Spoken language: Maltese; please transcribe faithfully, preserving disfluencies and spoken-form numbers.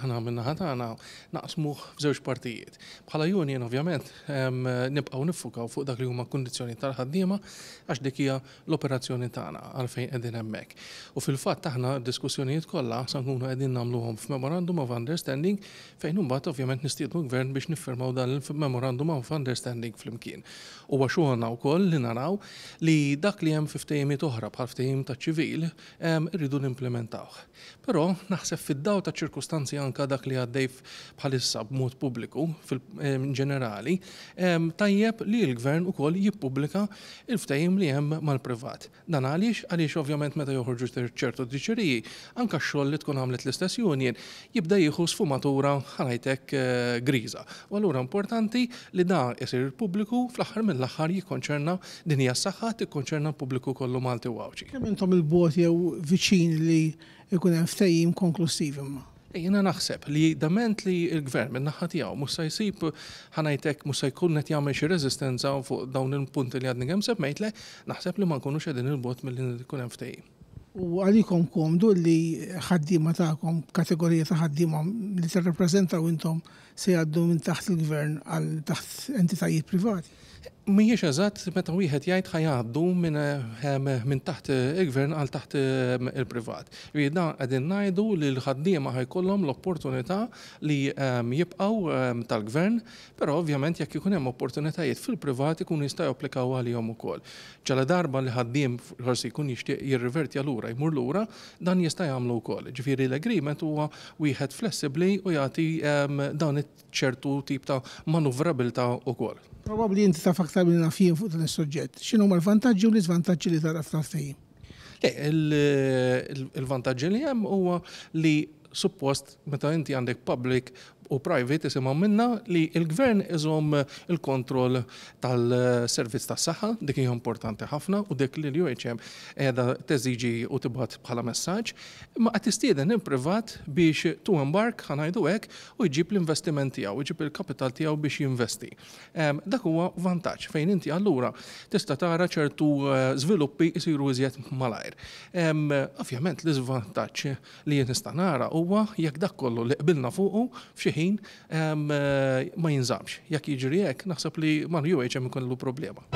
Aħna min-naħa tagħna naqsmuh f'żewġ partijiet. Bħala union, ovvjament, nibqgħu niffukaw fuq dak li huma kundizzjoni tal-ħaddiema, għax dik hija l-operazzjoni tagħna, għalfejn qegħdin hemmhekk. U fil-fatt aħna d-diskussjonijiet kollha sa nkunu qegħdin nagħmluhom f'memorandum of understanding, fejn imbagħad ovvjament nistiednu gvern biex niffirmaw dan il-memorandum of understanding flimkien. Huwa xogħolna wkoll li naraw li dak li hemm fi ftehimiet oħra, bħal ftehim ta' ċivil, irridu nimplementawh. Però naħseb fid-daw ta' ċirkustanzi, anka dak li għaddej bħalissa b'mod pubbliku fil-ġenerali, tajjeb li l-gvern ukoll jippubblika il-ftehim li hemm mal-privat. Dan għaliex għaliex ovvjament meta joħorġu ċertu diċeriji, anka x-xogħol li tkun għamlet l-istess union jibda jieħu sfumatura, ħa ngħidlek, eh, griża. U allura importanti li dan isir pubbliku. Fl-aħħar mill-aħħar jikkonċerna, din hija s-saħħa, tikkonċerna l-pubbliku kollu Malti u Għawdxi. Kemm intom 'il bogħod jew viċin li jkun hemm ftehim konklusiv imma? Jiena naħseb li dament li l-gvern minn naħa tiegħu mhux se jsib, ħa ngħidlek, mhux se jkun qed jagħmel xi reżistenza fuq dawn il-punti li għadni kemm semmejtlek, naħseb li ma nkunux qegħdin 'il bogħod milli jkun hemm ftehim. U għalikom komdu li ħaddiema tagħkom, kategorija ta' ħaddiema li tirrappreżentaw intom, se jgħaddu minn taħt il-gvern għal taħt entitajiet privati? Mhijiex eżatt meta wieħed jgħid ħa jgħaddu minn eh, min taħt il-gvern għal taħt eh, il-privat. Jiena qegħdin ngħidu li l-ħaddiema ħa jkollhom l-opportunità li eh, jibqgħu tal-gvern, però ovvjament jekk ikun hemm opportunitajiet fil-privat ikunu jistgħu japplikaw għalihom ukoll. Ġala darba li ħaddiem forsi jkun jixtieq jirrivertja lura, jmur lura, dan jista' jagħmlu wkoll. Ġifieri l-agreement huwa wieħed flessibbli u jagħti dan ċertu tip ta' manuvrabilità wkoll. Probabbli inti taf aktar minn naf jien fuq dan is-suġġett. X'inhuma l-vantaġġi u l-iżvantaġġi li tara f'tal-ftehim? Il-vantaġġi li hemm huwa li suppost meta inti għandek public u private, isimgħu minna, li il-gvern iżomm il-kontroll tal-servizz tas-saħħa, dik hija importanti ħafna u dik li l-U H M qiegħda teżiġi u tibgħat bħala messaġġ, imma qed tistieden il-privat biex to embark, ħa ngħidu hekk, u jġib l-investiment tiegħu, jġib il-kapital tiegħu biex jinvesti. Dak huwa vantaġġ fejn inti allura tista' tara ċertu eh, żviluppi jsiru iżjed malajr. Ovvjament l-iżvantaġġ li jien nista' nara huwa jekk dak kollu li qbilna fuqu f'xi ħin ma jinżamx. Jekk jiġri hekk, naħseb li mal-U H M ikollu problema.